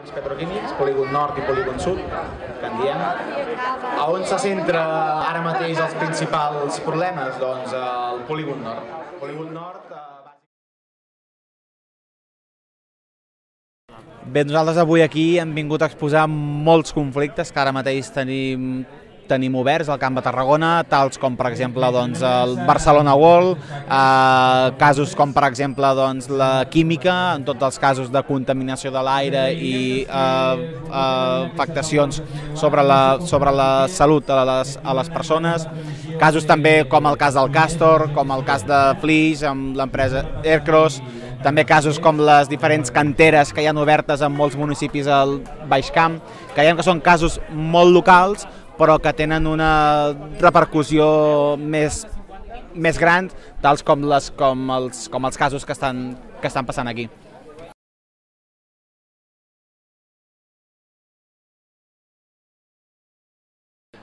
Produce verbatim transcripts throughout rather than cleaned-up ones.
Petroquímics, polígon nord i polígon sud, que en diem. A on se centra ara mateix els principals problemes? Doncs al polígon nord. Polígon nord... Bé, nosaltres avui aquí hem vingut a exposar molts conflictes que ara mateix tenim tenim oberts al Camp de Tarragona, tals com per exemple doncs, el Barcelona World, eh, casos com per exemple doncs, la química, en tots els casos de contaminació de l'aire i eh, eh, afectacions sobre la, sobre la salut a les, a les persones, casos també com el cas del Castor, com el cas de Flix amb l'empresa Aircross, també casos com les diferents canteres que hi ha obertes en molts municipis al Baix Camp, que creiem que són casos molt locals, però que tenen una repercussió més, més gran, tals com, les, com, els, com els casos que estan, que estan passant aquí.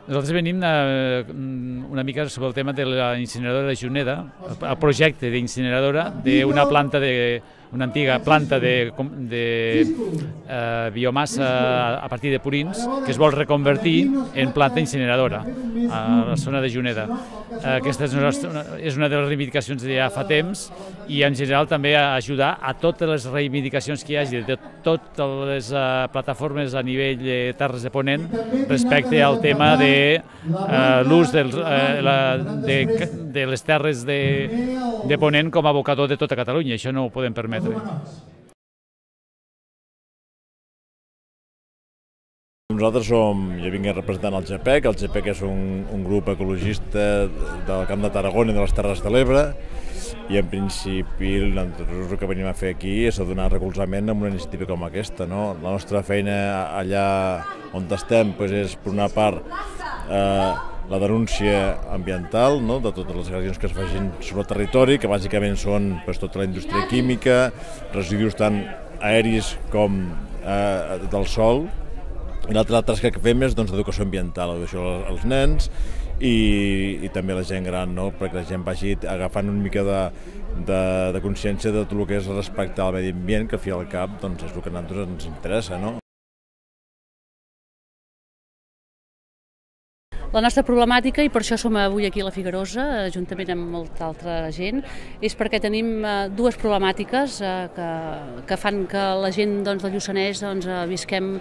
Nosaltres venim una mica sobre el tema de la incineradora de Juneda, el projecte d'incineradora d'una planta de una antiga planta de, de eh, biomassa a partir de purins que es vol reconvertir en planta incineradora a la zona de Juneda. Aquesta és una, és una de les reivindicacions de ja fa temps i en general també ajudar a totes les reivindicacions que hi hagi de totes les uh, plataformes a nivell de Terres de Ponent respecte al tema de uh, l'ús uh, de, de les terres de, de Ponent com a abocador de tota Catalunya. Això no ho podem permetre. Nosaltres som, jo vinc representant el G P E C, el G P E C és un, un grup ecologista del Camp de Tarragona i de les Terres de l'Ebre i en principi nosaltres el que venim a fer aquí és a donar recolzament a una iniciativa com aquesta. No? La nostra feina allà on estem doncs és per una part eh, la denúncia ambiental, no? De totes les agressions que es facin sobre el territori, que bàsicament són doncs, tota la indústria química, residus tant aeris com eh, del sol. I l'altra tasca que fem és doncs, educació ambiental, educació als nens i, i també a la gent gran, no? Perquè la gent vagi agafant una mica de, de, de consciència de tot el que és respectar al medi ambient, que al fi al cap doncs, és el que a nosaltres ens interessa. No? La nostra problemàtica, i per això som avui aquí a la Figuerosa, juntament amb molta altra gent, és perquè tenim dues problemàtiques que, que fan que la gent doncs, del Lluçanès doncs, visquem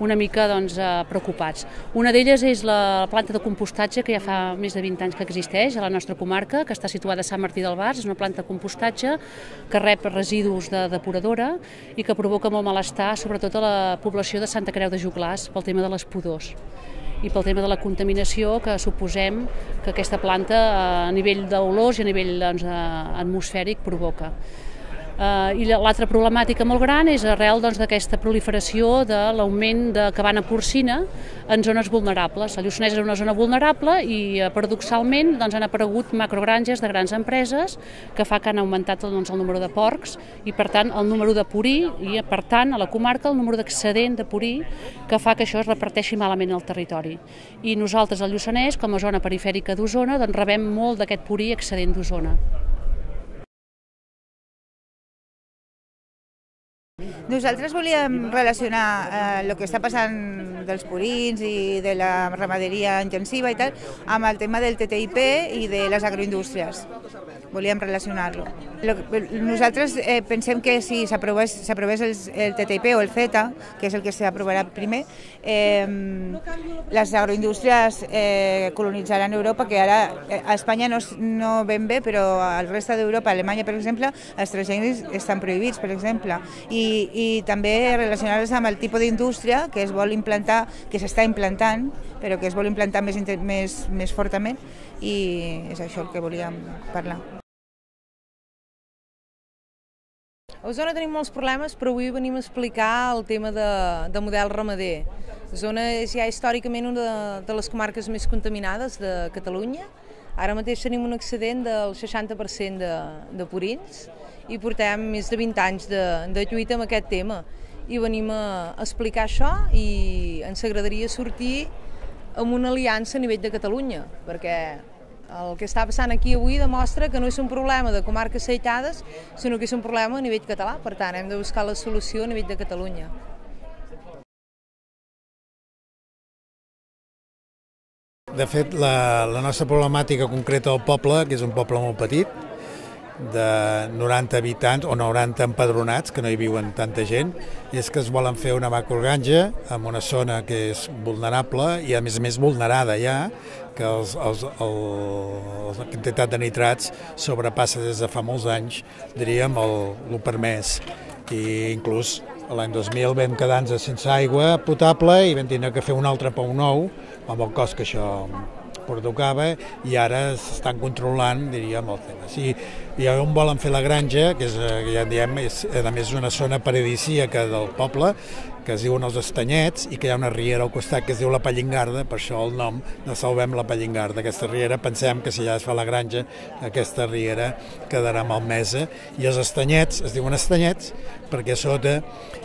una mica doncs, preocupats. Una d'elles és la planta de compostatge que ja fa més de vint anys que existeix a la nostra comarca, que està situada a Sant Martí del Bars. És una planta de compostatge que rep residus de depuradora i que provoca molt malestar, sobretot a la població de Santa Creu de Joglars, pel tema de les pudors i pel tema de la contaminació que suposem que aquesta planta a nivell d'olors i a nivell doncs, atmosfèric provoca. Uh, I l'altra problemàtica molt gran és arrel doncs, d'aquesta proliferació de l'augment de cabana porcina en zones vulnerables. El Lluçanès és una zona vulnerable i, paradoxalment, doncs, han aparegut macrogranges de grans empreses que fa que han augmentat doncs, el número de porcs i, per tant, el número de purí i, per tant, a la comarca el número d'excedent de purí que fa que això es reparteixi malament al territori. I nosaltres, al Lluçanès, com a zona perifèrica d'Osona, doncs, rebem molt d'aquest purí excedent d'Osona. Nosaltres volíem relacionar eh, el que està passant dels purins i de la ramaderia intensiva i tal amb el tema del T T I P i de les agroindústries. Volíem relacionar-lo. Nosaltres eh, pensem que si s'aprovés el, el T T I P o el CETA, que és el que s'aprovarà primer, eh, les agroindústries eh, colonitzaran Europa, que ara a Espanya no, no ben bé, però al resta d'Europa, a Alemanya, per exemple, els transgènics estan prohibits, per exemple. I, i també relacionar-los amb el tipus d'indústria que es vol implantar, que s'està implantant, però que es vol implantar més, més, més fortament, i és això el que volíem parlar. A Osona tenim molts problemes, però avui venim a explicar el tema de, de model ramader. Osona és ja històricament una de, de les comarques més contaminades de Catalunya. Ara mateix tenim un excedent del seixanta per cent de, de purins i portem més de vint anys de, de lluita amb aquest tema. I venim a explicar això i ens agradaria sortir amb una aliança a nivell de Catalunya, perquè el que està passant aquí avui demostra que no és un problema de comarques aïllades, sinó que és un problema a nivell català. Per tant, hem de buscar la solució a nivell de Catalunya. De fet, la, la nostra problemàtica concreta del poble, que és un poble molt petit, de noranta habitants o noranta empadronats, que no hi viuen tanta gent, és que es volen fer una macrogranja en una zona que és vulnerable i a més a més vulnerada ja, que els, els, el, la quantitat de nitrats sobrepassa des de fa molts anys, diríem, el, el permès. I inclús l'any dos mil vam quedar-nos sense aigua potable i vam tenir que fer un altre pou nou, amb el cost que això provocava, i ara s'estan controlant, diríem, el tema. Si, i on volen fer la granja, que és, ja diem, és, a més, una zona paradisíaca del poble, que es diuen els Estanyets, i que hi ha una riera al costat que es diu la Pallingarda, per això el nom de Salvem la Pallingarda. Aquesta riera, pensem que si ja es fa la granja, aquesta riera quedarà malmesa, i els Estanyets es diuen Estanyets perquè a sota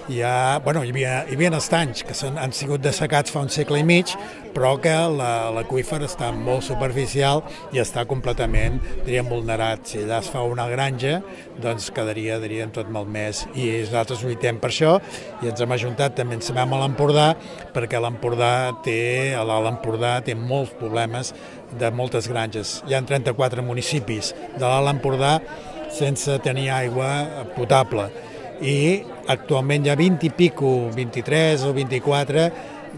hi ha, bueno, hi havia, hi havia estanys que són, han sigut dessecats fa un segle i mig, però que l'aqüífer està molt superficial i està completament, diríem, vulnerat. Si allà es fa una granja, doncs quedaria, diríem, tot malmès, i nosaltres lluitem per això, i ens hem ajuntat, també ens sabem a l'Empordà, perquè l'Empordà té, l'Empordà té molts problemes de moltes granges. Hi ha trenta-quatre municipis de l'Alt Empordà sense tenir aigua potable, i actualment hi ha vint i pico, vint-i-tres o vint-i-quatre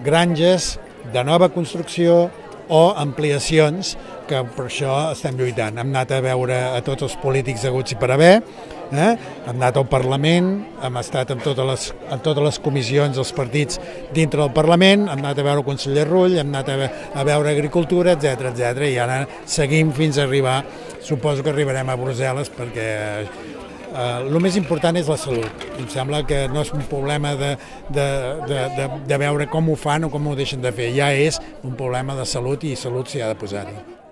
granges de nova construcció o ampliacions, que per això estem lluitant. Hem anat a veure a tots els polítics haguts i per haver, eh? hem anat al Parlament, hem estat en totes les, en totes les comissions dels partits dintre del Parlament, hem anat a veure el conseller Rull, hem anat a, ve a veure Agricultura, etcètera, etcètera, i ara seguim fins a arribar, suposo que arribarem a Brussel·les, perquè el uh, més important és la salut. Em sembla que no és un problema de, de, de, de, de veure com ho fan o com ho deixen de fer, ja és un problema de salut, i salut s'hi ha de posar-hi.